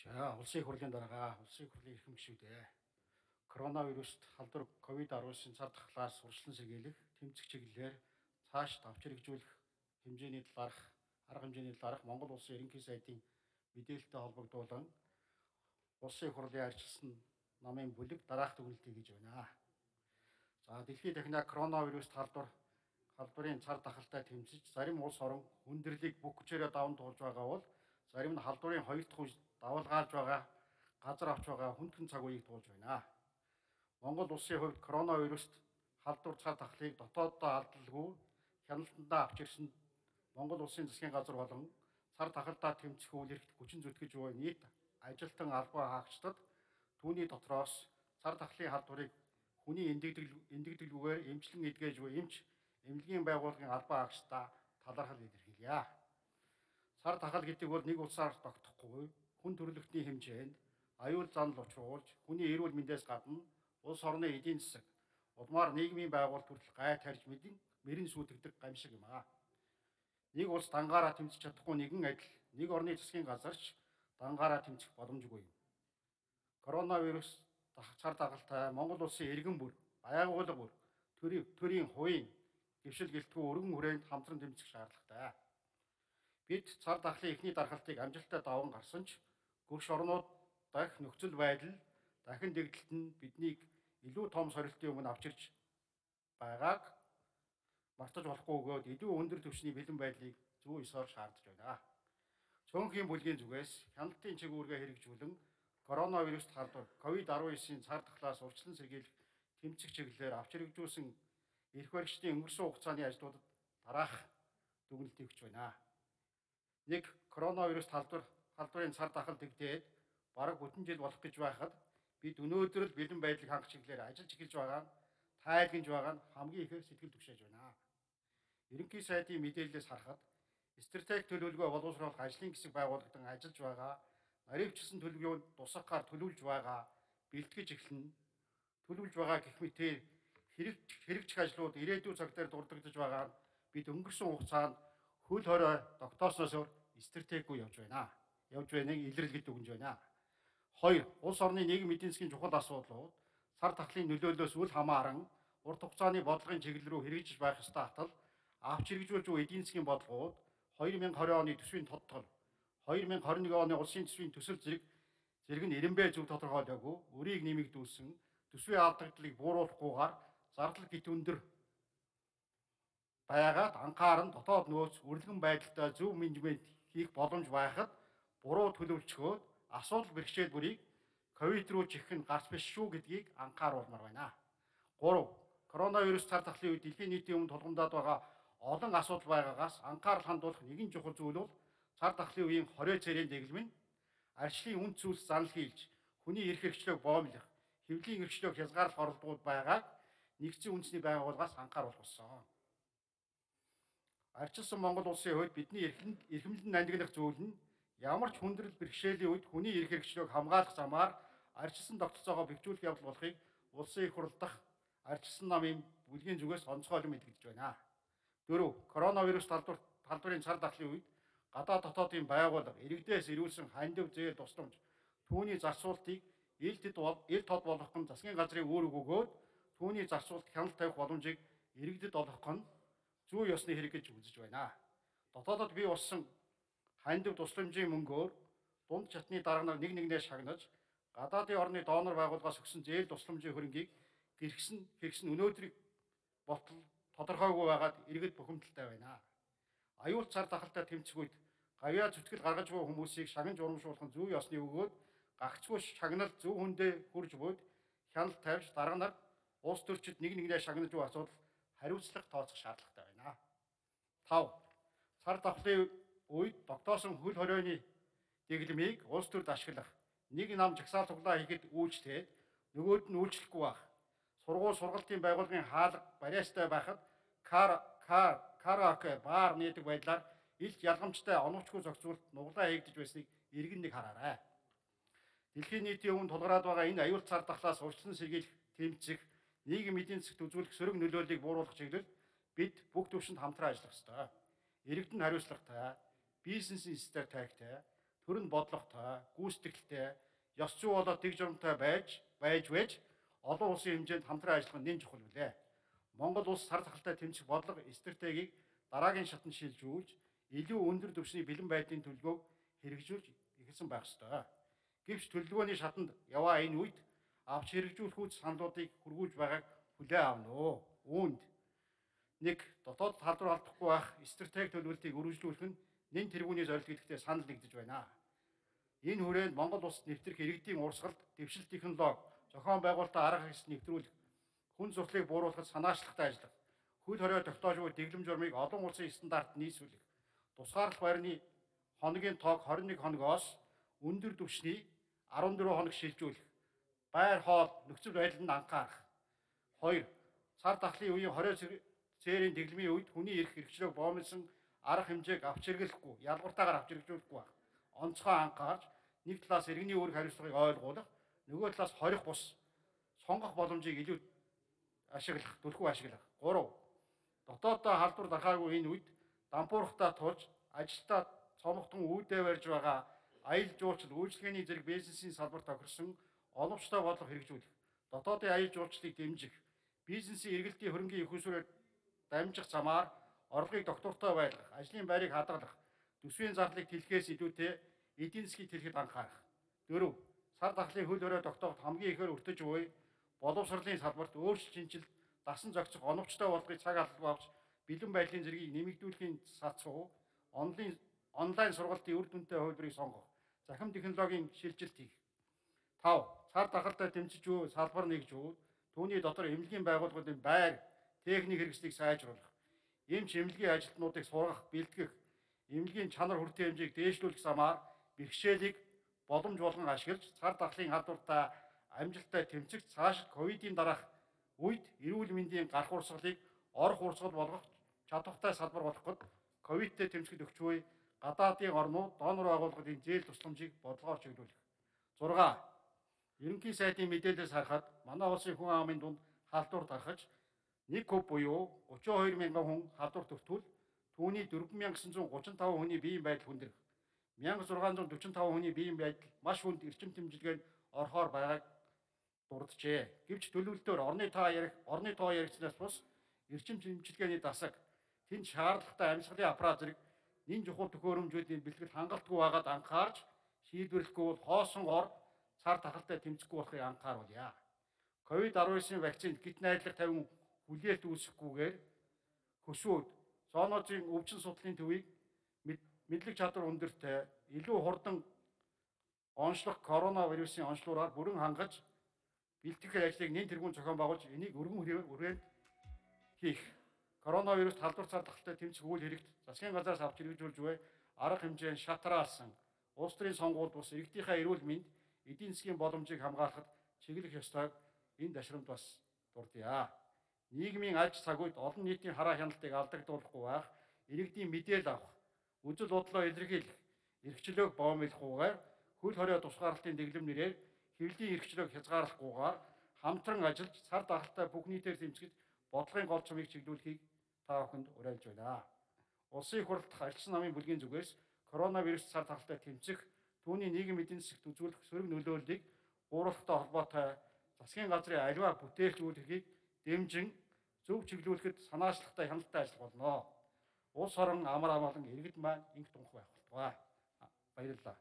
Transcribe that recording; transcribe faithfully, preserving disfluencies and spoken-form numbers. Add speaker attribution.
Speaker 1: За улсын хурлын дарга улсын хурлын эрхэм гишүүдээ коронавируст халдвар ковид дөрвөн цар тахлаас урьдчилан сэргийлэх тэмцэх чиглэлээр цааш давч хэрэгжүүлэх хэмжээний талаарх арга хэмжээний талаарх Монгол улсын ерөнхий сайдын мэдээлэлтэй холбогдуулан улсын хурлын арчилсан намын бүлэг дараах дүгнэлтийг хийж байна. За дэлхийд дахинаа коронавируст халдвар халдварын цар тахалтай тэмцэж зарим улс орон хүндрэлийг бүх хүчээрээ даван туулж байгаа бол зарим нь халдварын хоёр дахь давалгаалж байгаа газар авч байгаа хүндхэн цаг үеийг туулж байна. Монгол улсын хувьд коронавируст халдвар цар тахлыг дотооддоо алдалгүй хяналтандаа авч ирсэн Монгол улсын засгийн газар болон цар тахалдаа тэмцэх үйл хэрэгт хүчин зүтгэж буй нийт ажилтан албан хаагчдад түүний дотроос цар тахлын халдварыг хүний эндэгдэлгүйгээр эмчлэн эдгэж буй эмч эмнэлгийн байгууллагын албан хаагчдаа талархал илэрхийлье. Цар тахал гэдэг бол нэг улсаар тогтохгүй хүн төрөлхтний хэмжээнд аюул занал учруулж хүний эрүүл мэндээс гадна улс орны эдийн засаг улмаар нийгмийн байгуулалт хүртэл гай тарьж мэдэн мөрөн сүйтгэдэг гамшиг юм аа. Нэг улс дангаараа тэмцэж чадахгүй нэгэн адил нэг орны засгийн газарч дангаараа тэмцэх боломжгүй юм. Коронавирус цар тахалтай Монгол улсын иргэн бүр, байгууллага бүр, төрийн төрийн хувийн гэршил гэлтгүй өргөн хүрээнд хамтран тэмцэх шаардлагатай. Бид цар тахлын эхний дархалтыг амжилттай даван гарсан ч гөрш орнууд дахь нөхцөл байдал дахин дэгдэлт нь биднийг илүү том сорилтын өмнө авчирч байгааг мартаж болохгүй өгөөд илүү өндөр түвшний бэлэн байдлыг зүй ёсоор шаардж байна. Цөөнхийн бүлгийн зүгээс хяналтын чиглэлгээ хэрэгжүүлэн коронавирус халдвар ковид дөрвөн цар тахлаас урьдчилан сэргийлэх тэмцэх чиглэлээр авч хэрэгжүүлсэн эрх баригчдын өнгөрсөн хугацааны ажлуудад дараах дүгнэлтийг өгч байна. Нэг коронавирус халдвар халдварын цар тахал дэгдээд бараг бүтэн жил болох гэж байхад бид өнөөдөр л бэлэн байдлыг хангах чиглэлээр ажиллаж эхэлж байгаа нь тайлгнаж байгаа нь хамгийн ихээр сэтгэл түгшээж байна. Ерөнхий сайдын мэдээлэлээс харахад стратеги төлөвлөгөө боловсруулах ажлын хэсэг байгуулагдсан ажиллаж байгаа наривчилсан төлөвлөгөөнд тусахаар төлөвлөж байгаа бэлтгэж эхэлнэ. Төлөвлөж байгаа гэх мэт хэрэгжих ажлууд ирээдүйн цаг дээр дурддагдж байгаа нь бид өнгөрсөн хугацаанд хөл хорой тогтоосноос өөр стратеггүй явж байна. Явж байныг илэрлэгт өгнж байна. Хоёр, улс орны нийгэм эдийн засгийн чухал асуудлууд цар тахлын нөлөөллөөс үл хамааран урт хугацааны бодлогын чиглэл рүү хэрэгжиж байх ёстой хатал авч хэрэгжүүлж буй эдийн засгийн бодлогууд две тысячи двадцать оны төсвийн тодтол, две тысячи двадцать one оны улсын төсвийн төсөл зэрэг зэрэг нь эренбэ зөв тодорхойлоогүй өрийг нэмэгдүүлсэн төсвийн алдагдлыг бууруулахгүйгээр зардал гит өндөр байгаад анхааран дотоод нөөц үргэлжлэн байдалтай зөв менежмент хийх боломж байхад буруу төлөвлөчгөөд асуудал бэрхшээл бүрийг ковид руу чихэх нь гарч биш шүү гэдгийг анхааруулмаар байна. Гурав. Коронавирус цар тахлын үед дэлхийн нийтийн өмнө тулгамдаад байгаа олон асуудал байгаагаас анхаарал хандуулах нэгэн чухал зүйл бол цар тахлын үеийн хорой цэрийн дэглэм нь арчлын үнд цөлс занал хийлж хүний эрх хэрэгчлөөг боомлох, хэвлийн эрхчлөөг хязгаарлах оролдгууд байгааг нэгдсэн үндэсний байгууллагаас анхааруулах болсон. Арчилсан Монгол улсын хувьд бидний эрхэмлэн нандинах зүйл нь ямар ч хүндрэл бэрхшээлийн үед хүний эрх хэрэгчлөөг хамгаалах замаар арчилсан тогтолцоогоо бэхжүүлэх явдал болохыг улсын их хурл дахь арчилсан намын бүлгийн зүгээс онцгойлон мэдгэж байна. Дөрөв. Коронавирус халдвар халдварын цар тахлын үед гадаад дотоодын байгууллага иргэдээс ирүүлсэн хандив зээл тусламж түүний зарцуултыг ил тэд ил тод болгох нь засгийн газрын үүрэг өгөөд түүний зарцуулт хяналт тавих боломжийг иргэдэд олгох нь зүй ёсны хэрэг гэж үзэж байна. Дотоодод бий болсон хандив тусламжийн мөнгөөр дунд чатны дарга нар нэг нэгнээ шагнаж гадаадын орны донор байгууллагаас өгсөн зээл тусламжийн хөрөнгийг гэрхсэн хэрэгсэн өнөөдрийг болтол тодорхойгүй байгаад иргэд бухимдалтай байна. Аюул цар тахалтай тэмцэх үед гавьяа зүтгэл гаргаж буй хүмүүсийг шагнаж урамшуулах нь зүй ёсны өгөөд гагцгүй шагналт зөв хүндээ хурж буйд хяналт тавьж дарга нар улс төрчид нэг нэгнээ шагнаж буй асуудал хариуцлага тооцох шаардлагатай байна. Тав. Цар тахлын үед тогтоосон хөл хоройны дэглэмийг улс төрд ашиглах нэг нам жагсаал туглаа хийхэд үйлчлээд нөгөөд нь үйлчлэхгүй байх. Сургууль сургалтын байгууллагын хаалга барьяастай байхад кар кар караоке бар нээдэг байдлаар илт ялгамжтай оновчгүй зохицуулт нуглаа хийгдэж байсныг иргэн нэг хараарай. Дэлхийн нийтийн өмнө тулгараад байгаа энэ аюул цар тахлаас урьдчилан сэргийлэх тэмцэх нийгэм эдийн засагт үзүүлэх сөрөг нөлөөллийг бууруулах чиглэл бид бүх төвшөнд хамтран ажиллах ёстой. Иргэдэд хариуцлагатай, бизнесийн стратегтэй, төрөн бодлоготой, гүйцэтгэлтэй, ёс зүй болоод дэг журамтай байж байж байж олон улсын хэмжээнд хамтран ажиллах нь нэн чухал билээ. Монгол улс сар тахалтай тэмцэх бодлого стратегийг дараагийн шатанд шилжүүлж, илүү өндөр түвшний бэлэн байдлын төлөвлөгөөг хэрэгжүүлж эхэлсэн байх ёстой. Гэвч төлөвлөгөөний шатанд яваа энэ үед авч хэрэгжүүлэх үйл саналуудыг хүргүүлж байгааг хүлээн авна уу. Үүнд нэг дотоод халдвар алдахгүй байх стратеги төлөвлөлтийг үргэлжлүүлэх нь нэн тэргүүний зорилго гэдэгтээ санал нэгдэж байна. Энэ хүрээнд Монгол улсад нэвтрэх иргэдийн урсгалд дэвшил технологи, зохион байгуулалтын арга хэрэгсэл нэвтрүүлэх, хүн сурталыг бууруулахад санаачлагтай ажиллах, хөл хорио тогтоож буй дэглэм журмыг олон улсын стандарт нийцүүлэх, тусгаарлах байрны хоногийн тоог хорин нэг хоногоос өндөр түвшний арван дөрвөн хоног шилжүүлэх, байр хоол нөхцөл байдлыг анхаарах. Хоёр, цар тахлын үеийн хорио цээрийн дэглэмийн үед хүний эрх хэрэгчлөөг боомлсон арга хэмжээг авч хэрэглэхгүй, ялгууртаагаар авч хэрэгжүүлэхгүй байх. Онцгой анхаарч нэг талаас иргэний үүрэг хариуцлагыг ойлгуулах, нөгөө талаас хорих бус сонгох боломжийг илүү ашиглах, түлхүү ашиглах. Гурав, дотооддоо халдвар дарахаагүй энэ үед дампуурхтаа тулж ажилтаа цомогтон үүдээ барьж байгаа аялал жуулчлал, үйлчлэгээний зэрэг бизнесийн салбарт тохирсон оновчтой бодлого хэрэгжүүлэх, дотоодын аялал жуулчлалыг дэмжих, бизнесийн эргэлтийн хөрөнгийн их усрээр дамжих замаар орлогыг доктортой байлгах, ажлын байрыг хадгалах, төсвийн зардлыг тэлхээс илүүтэй эдийн засгийг тэлхэд анхаарах. Дөрөв, сар тахлын хөл хорио тогтооход хамгийн ихээр өртөж буй боловсролын салбарт өөрчлөлт шинжилт, дасан зохицох оновчтой болгохыг цаг албагүй авч бэлэн байдлын зэргийг нэмэгдүүлэхийн сацуу онлайн онлайн сургалтын үр дүнтэй хувилбарыг сонгох, захин технологийн шилжилт хийх. Тав, цар тахалтай тэмцэж буй салбар нэгжүүд түүний дотор эмнэлгийн байгууллагуудын байр, техник хэрэгслийг сайжруулах, эмч эмнэлгийн ажилтнуудыг сургах, бэлтгэх, эмнэлгийн чанар хүртээ хэмжээг дээшлүүлэх замаар бэрхшээлийг боломж болгон ашиглаж цар тахлын халдвартай амжилттай тэмцэх, цааш ковидын дараах үед эрүүл мэндийн гарах урсгалыг орох урсгал болгох чадвартай салбар болоход ковидтэй тэмцэхэд өгч буй гадаадын орнууд донор байгууллагын зээл тусламжийг бодлогоор чиглүүлэх. зурга. Ерөнхий сайдын мэдээлэлээс харахад манай улсын хүн амын дунд халдвар тархаж нэг куб буюу гучин хоёр мянган хүн халдвар төртгөл түүний дөрвөн мянган гэсэн зуун гучин таван хүний биеийн байдал хүндрэх. мянга зургаан зуун дөрвөн таван хүний биеийн байдал маш хүнд эрчим тэмцэлгээнд орохоор байгааг дурджээ. Гэвч төлөвлөлтөөр орны тоо ярих, орны тоо яригчнаас бус эрчим тэмцэлгээний дасаг, тэнд шаардлагатай амьсгалын аппарат зэрэг нэн чухал төхөөрөмжүүдийн бэлтгэл хангалтгүй байгаад анхаарч шийдвэрлэхгүй бол хоосон ор цар тахалтай тэмцэхгүй болохыг анхааруулъя. ковид арван девятын вакцинд гит найдлага тавин хүлээлт үүсэхгүйгээр хөсвүүд зоонозын өвчин судлалын төвийг мэдлэг чадвар өндөртэй илүү хурдан онцлог коронавирусын онцлогоор бүрэн хангаж бэлтгэх ажлыг нэн тэргуун зохион байгуулж энийг өргөн хүрээнд хийх. Коронавирус халдвар цар тахалтай тэмцэх үйл хэрэгт засгийн газраас авч хэрэгжүүлж буй арга хэмжээнд шатраалсан улс төрийн сонгуульд бус иргэдийнхээ эрүүл мэнд, эдийн засгийн боломжийг хамгаалахад чиглэх ёстойг энэ ташрамд бас дурдъя. Нийгмийн аж цаг үед олон нийтийн хараа хяналтыг алдагдуулахгүй байх, иргэдийн мэдээлэл авах, үзэл бодлоо илэрхийлэх, эрхчлөөг боомлохгүйгээр хөл хорио тусгаарлалтын дэглэм нэрээр хэвлэлийн эрхчлөөг хязгаарлахгүйгээр хамтран ажиллаж цар тахалтай бүх нийтээр тэмцэж бодлогын гол цомыг чиглүүлэхийг та бүхэнд уриалж байна. Улсын их хурлдах альчсан намын бүлгийн зүгээс коронавирус цар тахалтай тэмцэх, түүний нийгэм эдийн засагт үзүүлэх сөрөг нөлөөллийг бууруулахтай холбоотой засгийн газрын аливаа бүтээлчүүлэхийг дэмжин зөв чиглүүлэхэд санаачлагтай хяналттай ажиллах болно. Улс орон амар амгалан иргэд маань инх тунх байх болтугай. Баярлалаа.